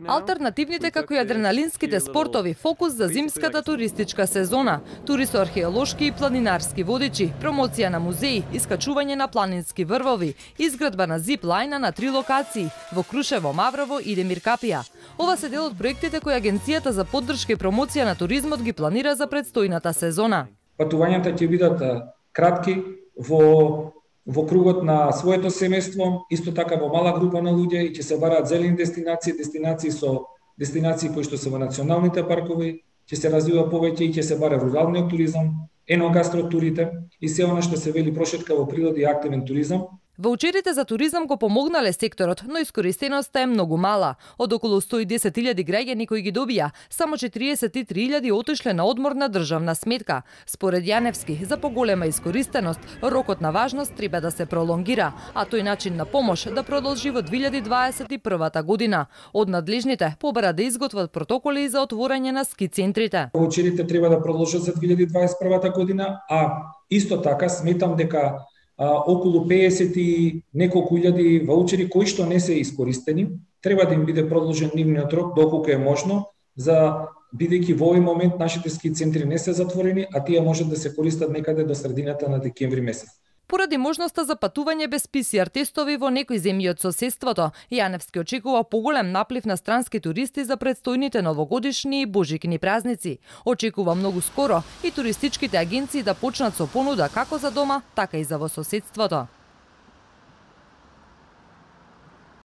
Алтернативните како и адреналинските спортови фокус за зимската туристичка сезона. Тури со археолошки и планинарски водичи, промоција на музеи, искачување на планински врвови, изградба на зип лајна на 3 локации во Крушево, Маврово и Демир Капија. Ова се дел од проектите кои Агенцијата за поддршка и промоција на туризмот ги планира за предстојната сезона. Патувањата ќе бидат кратки во кругот на своето семејство, исто така во мала група на луѓе и ќе се бараат зелени дестинации кои што се во националните паркови, ќе се развива повеќе и ќе се бара руралниот туризам, еногастротурите и се она што се вели прошетка во природа и активен туризам. Ваучерите за туризам го помогнале секторот, но искористеноста е многу мала. Од околу 110.000 граѓани кои ги добија, само 43.000 отишле на одмор на државна сметка. Според Јаневски, за поголема искористеност, рокот на важност треба да се пролонгира, а тој начин на помош да продолжи во 2021 година. Од надлежните побара да изготват протоколи за отворање на ски центрите. Ваучерите треба да продолжат за 2021 година, а исто така сметам дека околу 50 и неколку илјади ваучери кои што не се искористени, треба да им биде продолжен нивниот рок доколку е можно, бидејќи во овој момент нашите ски центри не се затворени, а тие можат да се користат некаде до средината на декември месец. Поради можноста за патување без ПСР тестови во некои земји од соседството, Јаневски очекува поголем наплив на странски туристи за предстојните новогодишни и божикни празници. Очекува многу скоро и туристичките агенции да почнат со понуда како за дома, така и за во соседството.